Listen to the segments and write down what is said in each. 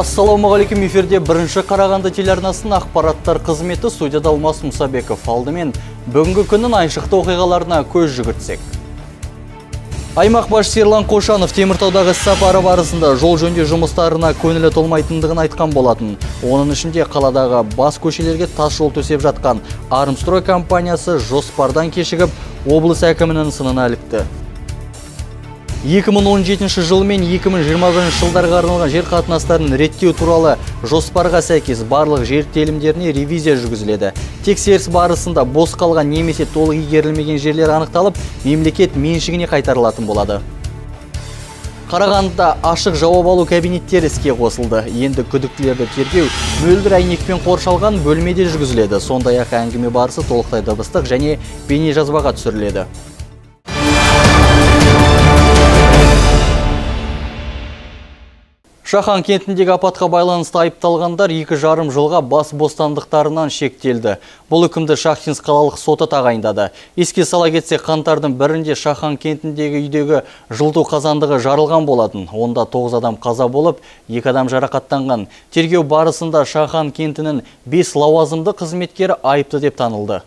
Ассалаумағалейкум, эфирде бірінші Қарағанды телеарнасының ақпараттар қызметі, студияда Алмас Мұсабеков. Алдымен бүгінгі күннің айшықты оқиғаларына көз жүгіртсек. Аймақ басшысы Ерлан Қошанов Теміртаудағы іссапары барысында жол жөндеу жұмыстарына көңілі толмайтындығын айтқан болатын. Оның ішінде қаладағы бас көшелерге тас жол төсеп жатқан Армстрой компаниясы жоспардан кешігіп, облыс әкімінің сынына ілікті. 2017 жыл мен 2021 жылдарға арналған жер қатынастарын реттеу туралы жоспарға сәйкес барлық жер телімдеріне ревизия жүргізіледі. Тексеріс барысында бос қалған немесе толық игерілмеген жерлер анықталып, мемлекет меншігіне қайтарылатын болады. Қарағандыда ашық жауап алу кабинеттері іске қосылды. Енді күдіктілерді тергеу мөлдір әйнекпен қоршалған бөлмеде жүргізіледі. Сондай-ақ әңгіме барысы толықтай дыбыстық және бейне жазбаға түсіріледі. Шахан кентіндегі апатқа байланысты айыпталғандар 2,5 жылға бас бостандықтарынан шектелді. Бұл үкімді Шахтинск қалалық соты тағайындады. Еске сала кетсек, қаңтардың 1-інде Шахан кентіндегі үйдегі жылыту қазандығы жарылған болатын. Онда 9 адам қаза болып, 2 адам жарақаттанған. Тергеу барысында Шахан кентінің 5 лауазымды қызметкері айыпты деп танылды.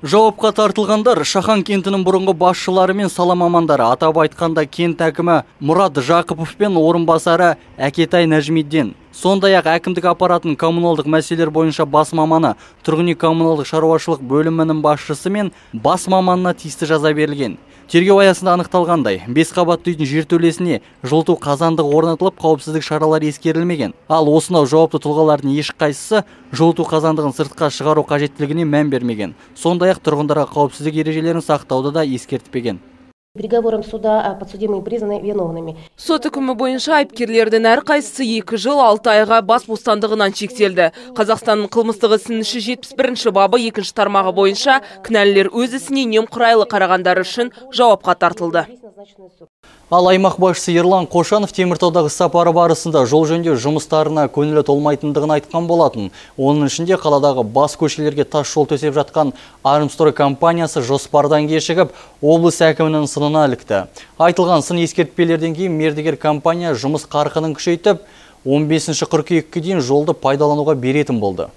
Жауапқа тартылғандар Шахан кентінің бұрынғы басшылары мен сала мамандары, атап айтқанда кент әкімі Мұрат Жақыпов пен орынбасары Әкетай Нәжмиддин. Сондай-ақ әкімдік аппаратының коммуналдық мәселелер бойынша бас маманы, тұрғын үй коммуналдық шаруашылық бөлімінің басшысы мен бас маманына тиісті жаза берілген. Тергеу аясында анықталғандай, 5 қабатты үйдің жертөлесіне жылыту қазандығы орнатылып, қауіпсіздік шаралары ескерілмеген. Ал осынау жауапты тұлғалардың ешқайсысы жылыту қазандығын сыртқа шығару қажеттілігіне мән бермеген. Сондай-ақ тұрғындарға қауіпсіздік ережелерін сақтауды да ескертпеген. Приговором суда подсудимые признаны виновными. Сот үкімі бойынша айыпкерлердің әрқайсысы 2 жыл 6 айға бас бостандығынан шектелді. Қазақстанның қылмыстық ісінің 71 бабы 2 тармағы бойынша кінәлілер өз ісіне немқұрайлы қарағандары үшін жауапқа тартылды. Ал аймақ басшысы Ерлан Қошанов Теміртаудағы сапары барысында жол жөндеу жұмыстарына көңілі толмайтындығын айтқан болатын. Оның ішінде қаладағы бас көшелерге тас жол төсеп жатқан Армстрой компаниясы жоспардан кешігіп, облыс әкімінің сынына ілікті. Айтылған сын ескертпелерден кейін мердігер компания жұмыс қарқынын күшейтіп, 15 қыркүйекке дейін жолды пайдалануға беретін болды.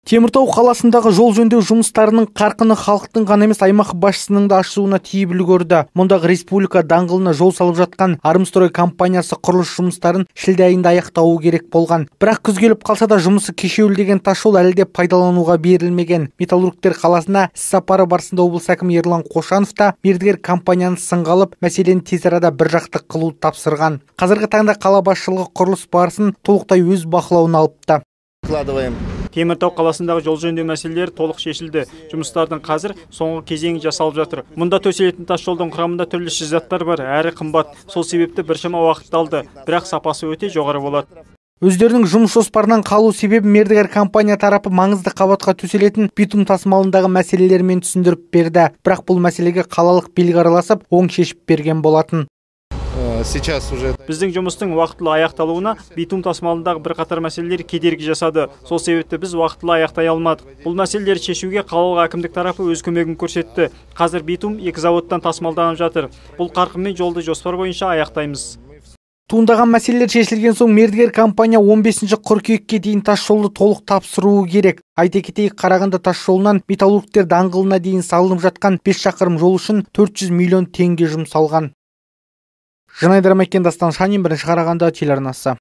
Теміртау қаласындағы жол жөндеу жұмыстарының қарқыны халықтың ғана емес, аймақ басшысының да ашуына тиіп үлгерді. Мұндағы республика даңғылына жол салып жатқан Армстрой компаниясы құрылыс жұмыстарын шілде айында аяқтауы керек болған. Бірақ күз келіп қалса да жұмысы кешеуілдеген тасжол әлі де пайдалануға берілмеген. Металлургтер қаласына іссапары барысында облыс әкімі Ерлан Қошанов та мердігер компанияны сынға алып, мәселені тез арада біржақты қылуды тапсырған. Қазіргі таңда қала басшылығы құрылыс барысын толықтай өз бақылауына алыпты. Теміртау қаласындағы жол жөндеу мәселелері толық шешілді. Жұмыстардың қазір соңғы кезеңі жасалып жатыр. Мұнда төселетін тас жолдың құрамында түрлі шикізаттар бар, әрі қымбат. Сол себепті біршама уақыт алды, бірақ сапасы өте жоғары болады. Өздерінің жұмыс жоспарынан қалу себебі мердігер компания тарапы маңызды қабатқа төселетін битум тасымалындағы мәселелермен түсіндіріп берді. Бірақ бұл мәселеге қалалық билік араласып, оң шешіп берген болатын. Біздің жұмыстың уақытылы аяқталуына битум тасымалындағы бірқатар мәселелер кедергі жасады. Сол себепті біз уақытылы аяқтай алмадық. Бұл мәселелерді шешуге қалалық әкімдік тарапы өз көмегін көрсетті. Қазір битум 2 заводтан тасымалданып жатыр. Бұл қарқынмен жолды жоспар бойынша аяқтаймыз. Туындаған мәселелер шешілген соң мердігер компания 15 қыркүйекке дейін тас жолды толық тапсыруы керек. Айта кетейік, Қарағанды тас жолынан металлургтер даңғылына дейін салынып жатқан 5 шақырым жол үшін 400 миллион теңге жұмсалған. Жанайдар Мәкен, Дастан Шанин, бірінші Қарағанды телеарнасы.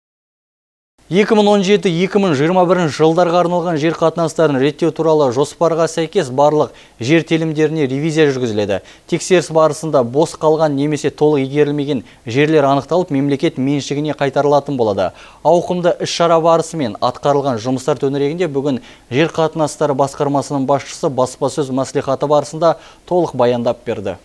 2017-2021 жылдарға арналған жер қатынастарын реттеу туралы жоспарға сәйкес барлық жер телімдеріне ревизия жүргізіледі. Тексеріс барысында бос қалған немесе толық игерілмеген жерлер анықталып, мемлекет меншігіне қайтарылатын болады. Ауқымды іс-шара барысымен атқарылған жұмыстар төңірегінде бүгін жер қатынастары басқармасының басшысы баспасөз мәслихаты барысында толық баяндап берді.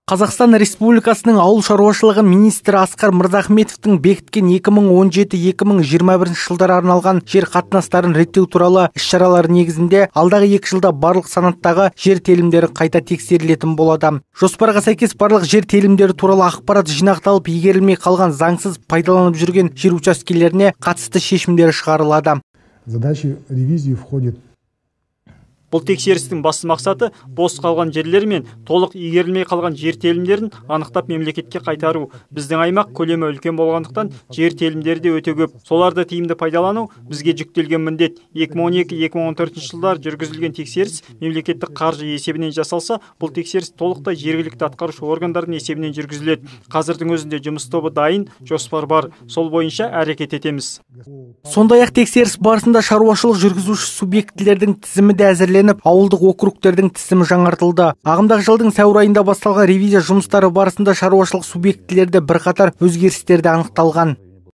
Қазақстан Республикасының ауыл шаруашылығы министрі Асқар Мырзахметовтің бекіткен 2017-2021 жылдары арналған жер қатынастарын реттеу туралы іс-шаралар негізінде алдағы 2 жылда барлық санаттағы жер телімдері қайта тексерілетін болады. Жоспарға сәйкес барлық жер телімдері туралы ақпарат жинақталып, игерілмей қалған заңсыз пайдаланып жүрген жер учаскелеріне қатысты шешімдер шығарылады. Задачи ревизии входит Бұл тексерістің басты мақсаты бос қалған жерлер мен толық игерілмей қалған жер телімдерін анықтап мемлекетке қайтару. Біздің аймақ көлемі үлкен болғандықтан жер телімдері де өте көп. Соларды тиімді пайдалану бізге жүктелген міндет. 2012-2014 жылдар жүргізілген тексеріс мемлекеттік қаржы есебінен жасалса, бұл тексеріс толықтай жергілікті атқарушы органдардың есебінен жүргізіледі. Қазірдің өзінде жұмыс тобы дайын, жоспар бар. Сол бойынша әрекет етеміз. Сондай-ақ тексеріс барысында шаруашылық жүргізуші субъектілердің тізімі де әзірленіп, ауылдық округтердің тізімі жаңартылды. Ағымдағы жылдың сәуір айында басталған ревизия жұмыстары барысында шаруашылық субъектілерде бірқатар өзгерістерді анықталған.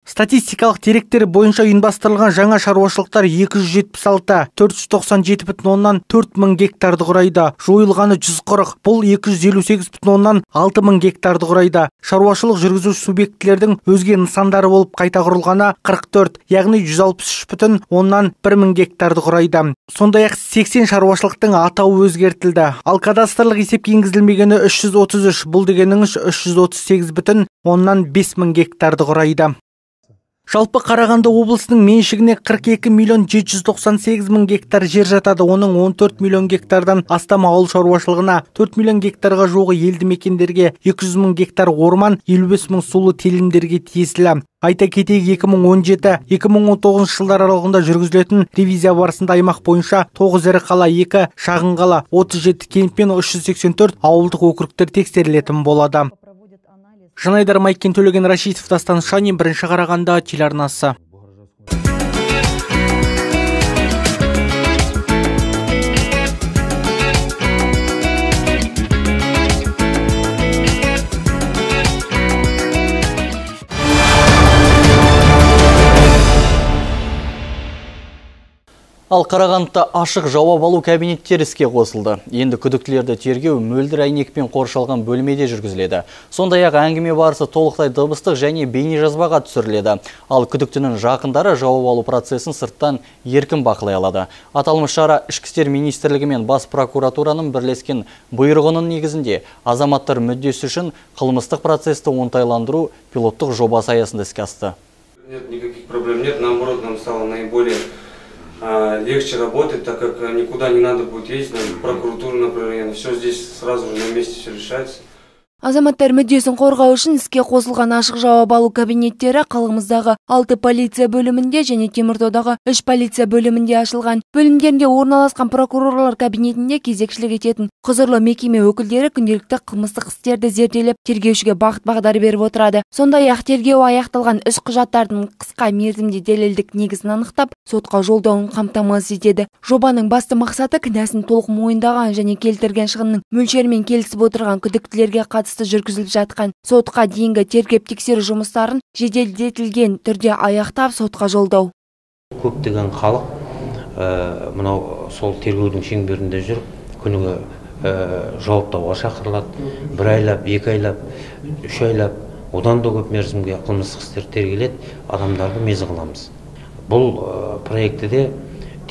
Статистикалық деректері бойынша ұйымдастырылған жаңа шаруашылықтар 276, 497,4 мың гектарды құрайды. Жойылғаны 140, бұл 258,6 мың гектарды құрайды. Шаруашылық жүргізуші субъектілердің өзге нысандары болып қайта құрылғаны 44, яғни 163,1 мың гектарды құрайды. Сондай-ақ 80 шаруашылықтың атауы өзгертілді. Ал кадастрлық есепке енгізілмегені 333, бұл дегеніңіз 338,5 мың гектарды құрайды. Жалпы Қарағанды облысының меншігіне 42 миллион 798 мың гектар жер жатады. Оның 14 миллион гектардан астам ауыл шаруашылығына, 4 миллион гектарға жуығы елді мекендерге, 200 мың гектар орман, 55 мың сулы телімдерге тиесілі. Айта кетейік, 2017-2019 жылдар аралығында жүргізілетін ревизия барысында аймақ бойынша 9 ірі қала, 2 шағын қала, 37 кент пен 384 ауылдық округтер тексерілетін болады. Жанайдар Майкен, Төлеген Рашитов, Дастан Шанин, бірінші Қарағанды телеарнасы. Ал Қарағандыда ашық жауап алу кабинеттері іске қосылды. Енді күдіктілерді тергеу мөлдір әйнекпен қоршалған бөлмеде жүргізіледі. Сондай-ақ әңгіме барысы толықтай дыбыстық және бейне жазбаға түсіріледі. Ал күдіктінің жақындары жауап алу процесін сырттан еркін бақылай алады. Аталмыш шара Ішкі істер министрлігі мен бас прокуратураның бірлескен бұйрығының негізінде азаматтар мүддесі үшін қылмыстық процесті оңтайландыру пилоттық жобасы аясында іске асты. Нет, никаких проблем нет, наоборот, нам стало наиболее легче работать, так как никуда не надо будет ездить, на прокуратуру, например, все здесь сразу же на месте все решается. Азаматтар мүддесін қорғау үшін іске қосылған ашық жауап алу кабинеттері қаламыздағы 6 полиция бөлімінде және Теміртаудағы 3 полиция бөлімінде ашылған. Бөлімдерінде орналасқан прокурорлар кабинетінде кезекшілік ететін құзырлы мекеме өкілдері күнделікті қылмыстық істерді зерделеп, тергеушіге бағыт-бағдар беріп отырады. Сондай-ақ тергеу аяқталған іс құжаттардың қысқа мерзімде дәлелдік негізін анықтап, сотқа жолдауын қамтамасыз етеді. Жобаның басты мақсаты кінәсін толық мойындаған және келтірген шығынның мөлшерімен келісіп отырған күдіктілерге қатысты жүргізіліп жатқан сотқа дейінгі тергеп-тексеру жұмыстарын жеделдетілген түрде аяқтап сотқа жолдау. Көптеген халық мынау сол тергеудің шеңберінде жүріп, күніге жауаптауға шақырылады. 1 айлап, 2 айлап, 3 айлап, одан да көп мерзімге қылмыстық істер тергеледі, адамдарды мезі қыламыз. Бұл проектіде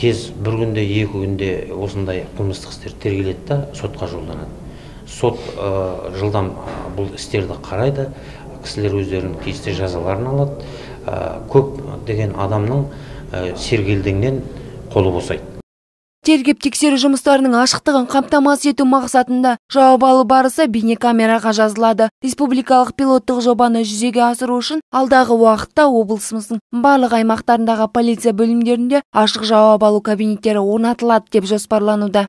тез 1 күнде, 2 күнде осындай қылмыстық істер тергеледі да сотқа жолданады. Сот жылдам бұл істерді қарайды, кісілер өздерінің тиісті жазаларын алады. Көп деген адамның сергелдеңнен қолы босайды. Тергеп-тексеру жұмыстарының ашықтығын қамтамасыз ету мақсатында жауап алу барысы бейнекамераға жазылады. Республикалық пилоттық жобаны жүзеге асыру үшін алдағы уақытта облысымыздың барлық аймақтарындағы полиция бөлімдерінде ашық жауап алу кабинеттері орнатылады деп жоспарлануда.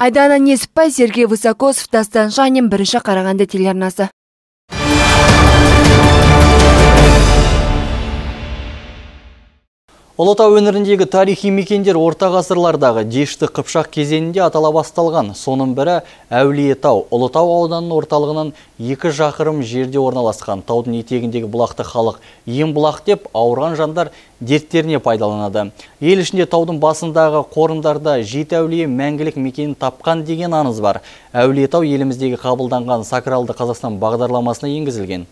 Айдана Несіпбай, Сергей Высокосов, Дастан Шанин, бірінші Қарағанды телеарнасы. Ұлытау өңіріндегі тарихи мекендер орта ғасырлардағы Дешті Қыпшақ кезеңінде атала басталған. Соның бірі Әулиетау. Ұлытау ауданының орталығынан 2 шақырым жерде орналасқан. Таудың етегіндегі бұлақты халық ең бұлақ деп ауырған жандар дерттеріне пайдаланады. Ел ішінде таудың басындағы қорымдарда Жеті әулие мәңгілік мекенін тапқан деген аңыз бар. Әулиетау еліміздегі қабылданған Сакралды Қазақстан бағдарламасына енгізілген.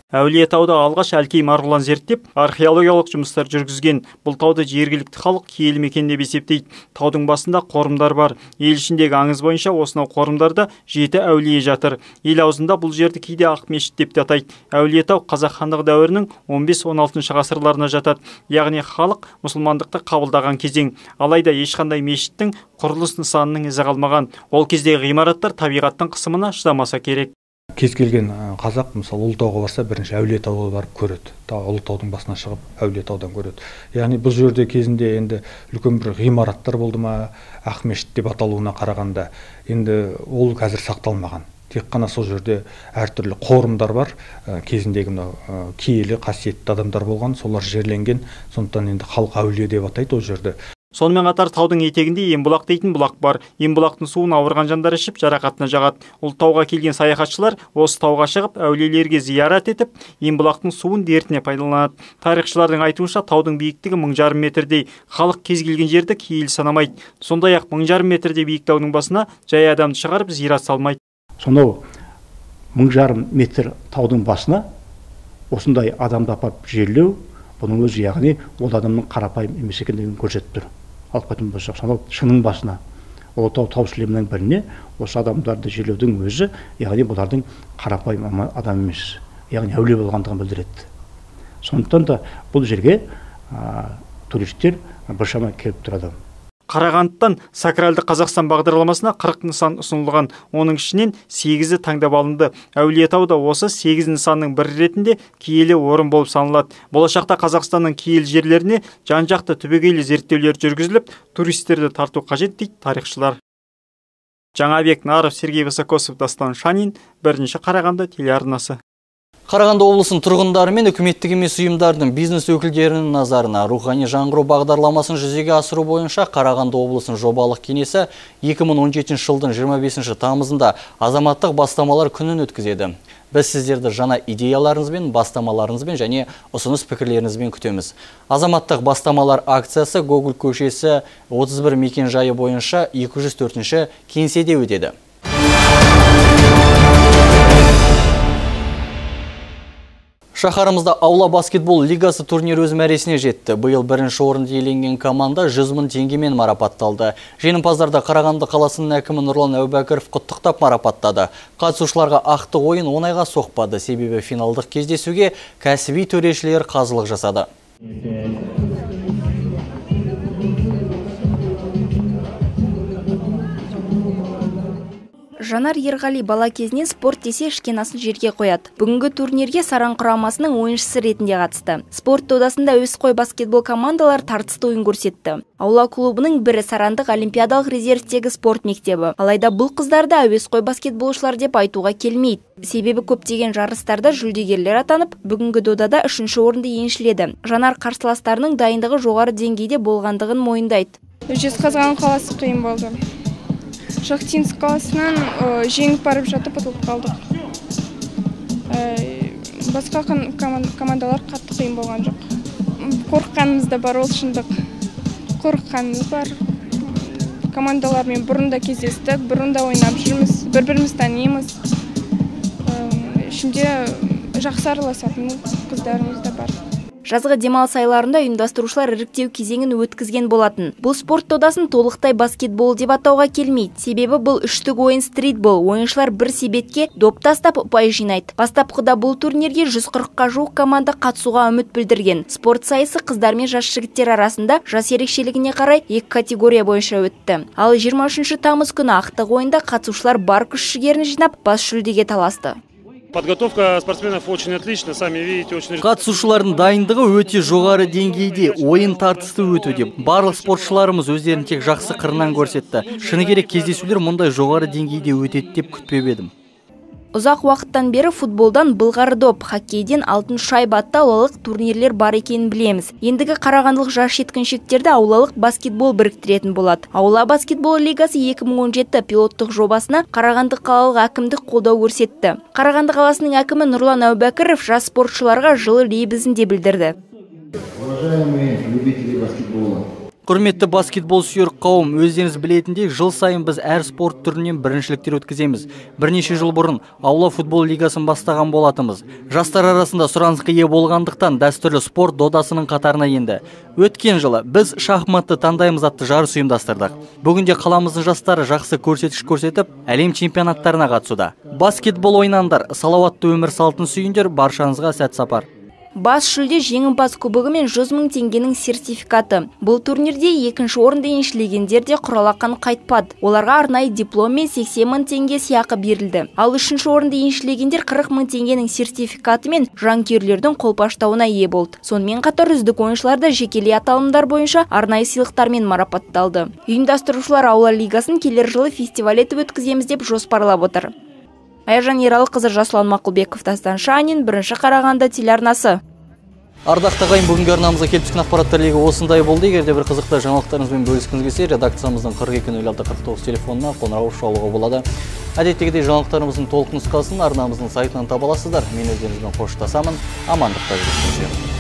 Әулиетауда алғаш Әлкей марғұлан зерттеп, археологиялық жұмыстар жүргізген. Бұл тауды жергілікті халық киелі мекен деп есептейді. Таудың басында қорымдар бар. Ел ішіндегі аңыз бойынша осынау қорымдарда 7 әулие жатыр. Ел аузында бұл жерді кейде ақ мешіт деп те атайды. Әулиетау қазақ хандығы дәуірінің 15-16 ғасырларына жатады. Яғни халық мұсылмандықты қабылдаған кезең. Алайда ешқандай мешіттің құрылыс нысанының ізі қалмаған. Ол кездегі ғимараттар табиғаттың қысымына шыдамаса керек. Кез келген қазақ мысалы Ұлытауға барса бірінші Әулиетауға барып көреді. Ұлытаудың басына шығып Әулиетаудан көреді. Яғни бұл жерде кезінде енді үлкен бір ғимараттар болды ма, Ақмешіт деп аталуына қарағанда, енді ол қазір сақталмаған. Тек қана сол жерде әртүрлі қорымдар бар. Кезіндегі мынау киелі қасиетті адамдар болған, солар жерленген. Сондықтан енді халық әулие деп атайды ол жерде. Сонымен қатар таудың етегінде Ембұлақ дейтін бұлақ бар. Ембұлақтың суын ауырған жандар ішіп жарақатына жағады. Ұлытауға келген саяхатшылар осы тауға шығып әулиелерге зиярат етіп, Ембұлақтың суын дертіне пайдаланады. Тарихшылардың айтуынша таудың биіктігі 1500 метрдей. Халық кез келген жерді киелі санамайды. Сондай-ақ 1500 метрде биік таудың басына жай адамды шығарып зиярат салмайды. Сонау 1500 метр таудың басына осындай адамды апарып жерлеу, бұның өзі яғни ол адамның қарапайым емес екендігін көрсетіп тұр. Алып қайтатын болсақ, сонау шыңның басына, Ұлытау тау сілемінің біріне осы адамдарды жерлеудің өзі, яғни бұлардың қарапайым адам емес, яғни әулие болғандығын білдіреді. Сондықтан да бұл жерге туристер біршама келіп тұрады. Қарағандыдан Сакралды Қазақстан бағдарламасына 40 нысан ұсынылған. Оның ішінен 8-і таңдап алынды. Әулиетауда осы 8 нысанның бірі ретінде киелі орын болып саналады. Болашақта Қазақстанның киелі жерлеріне жан-жақты түбегейлі зерттеулер жүргізіліп, туристерді тарту қажет дейді тарихшылар. Жаңабек Наров, Сергей Высокосов, Дастан Шанин, бірінші Қарағанды телеарнасы. Қарағанды облысының тұрғындары мен үкіметтік емес ұйымдардың бизнес өкілдерінің назарына рухани жаңғыру бағдарламасын жүзеге асыру бойынша Қарағанды облысының жобалық кеңесі 2017 жылдың 25 тамызында азаматтық бастамалар күнін өткізеді. Біз сіздерді жаңа идеяларыңызбен, бастамаларыңызбен және ұсыныс пікірлеріңізбен күтеміз. Азаматтық бастамалар акциясы Гоголь көшесі 31 мекен жайы бойынша 204-ші кеңседе өтеді. Шаһарымызда аула баскетбол лигасы турнир өз мәресіне жетті. Биыл бірінші орынды иеленген команда 100 000 теңгемен марапатталды. Жеңімпаздарды Қарағанды қаласының әкімі Нұрлан Әубәкіров құттықтап марапаттады. Қатысушыларға ақтық ойын оңайға соқпады, себебі финалдық кездесуге кәсіби төрешілер қазылық жасады. Жанар Ерғали бала кезінен спорт десе ішкен асын жерге қояды. Бүгінгі турнирге Саран құрамасының ойыншысы ретінде қатысты. Спорт додасында әуесқой баскетбол командалар тартысты ойын көрсетті. Аула клубының бірі Сарандық олимпиадалық резервтегі спорт мектебі. Алайда бұл қыздарды әуесқой баскетболшылар деп айтуға келмейді. Себебі көптеген жарыстарда жүлдегерлер атанып, бүгінгі додада 3-ші орынды еншіледі. Жанар қарсыластарының дайындығы жоғары деңгейде болғандығын мойындайды. Жезқазған қаласы қиын болды. Шахтинск қаласынан жеңіп барып жатып ұтылып қалдық. Басқа командалар қатты қиын болған жоқ. Қорыққанымыз да бар, ол шындық. Қорыққанымыз бар. Командалармен бұрында кездестік, бұрында ойнап жүрміз, бір-біріміз танимыз. Ішінде жақсы араласатын қыздарымыз да бар. Жазғы демалыс айларында ұйымдастырушылар іріктеу кезеңін өткізген болатын. Бұл спорт додасын толықтай баскетбол деп атауға келмейді. Себебі бұл үштік ойын стритбол. Ойыншылар бір себетке доп тастап ұпай жинайды. Бастапқыда бұл турнирге 140-қа жуық команда қатысуға үміт білдірген. Спорт сайысы қыздар мен жас жігіттер арасында жас ерекшелігіне қарай 2 категория бойынша өтті. Ал 23 тамыз күні ақтық ойында қатысушылар бар күш-жігерін жинап бас жүлдеге таласты. Подготовка спортсменов очень отлична, сами видите, очень. Қатысушылардың дайындығы өте жоғары деңгейде, ойын тартысты өтуде. Барлық спортшыларымыз өздерін тек жақсы қырынан көрсетті. Шыны керек кездесулер мұндай жоғары деңгейде өтеді деп күтпеп едім. Ұзақ уақыттан бері футболдан былғары доп, хоккейден алтын шайба атты аулалық турнирлер бар екенін білеміз. Ендігі қарағандылық жас жеткіншектерді аулалық баскетбол біріктіретін болады. Аула баскетбол лигасы 2017 пилоттық жобасына Қарағанды қалалық әкімдік қолдау көрсетті. Қарағанды қаласының әкімі Нұрлан Әубәкіров жас спортшыларға жылы лебізін де білдірді. Уважаемые любители баскетбола. Құрметті баскетбол сүйер қауым, өздеріңіз білетіндей, жыл сайын біз әр спорт түрінен біріншіліктер өткіземіз. Бірнеше жыл бұрын аула футбол лигасын бастаған болатымыз. Жастар арасында сұранысқа ие болғандықтан дәстүрлі спорт додасының қатарына енді. Өткен жылы біз шахматты таңдаймыз атты жарыс ұйымдастырдық. Бүгінде қаламыздың жастары жақсы көрсеткіш көрсетіп, әлем чемпионаттарына қатысуда. Баскетбол ойнаңдар, салауатты өмір салтын сүйіңдер, баршаңызға сәт сапар. Бас жүлде жеңімпаз кубогы мен 100 000 теңгенің сертификаты. Бұл турнирде екінші орынды еншілегендер де құралақан қайтпады. Оларға арнайы диплом мен 80 000 теңге сыйақы берілді. Ал үшінші орынды еншілегендер 40 000 теңгенің сертификаты мен жанкүйерлердің қолпаштауына ие болды. Сонымен қатар үздік ойыншылар да жекелей аталымдар бойынша арнайы сыйлықтармен марапатталды. Ұйымдастырушылар аула лигасын келер жылы фестиваль етіп өткіземіз деп жоспарлап отыр. Айжан Ералықызы, Жасұлан Мақұлбеков, Дастан Шанин, Бірінші Қарағанды телеарнасы. Ардақты ағайын, бүгінгі арнамызға келіп түскен ақпараттар легі осындай болды. Егер де бір қызықты жаңалықтарыңызбен бөліскіңіз келсе, редакциямыздың 42-06-49 телефонына қоңырау шалуға болады. Әдеттегідей жаңалықтарымыздың толық нұсқасын арнамыздың сайтынан таба аласыздар. Мен өздеріңізбен қоштасамын. Амандықта жүріңіздер.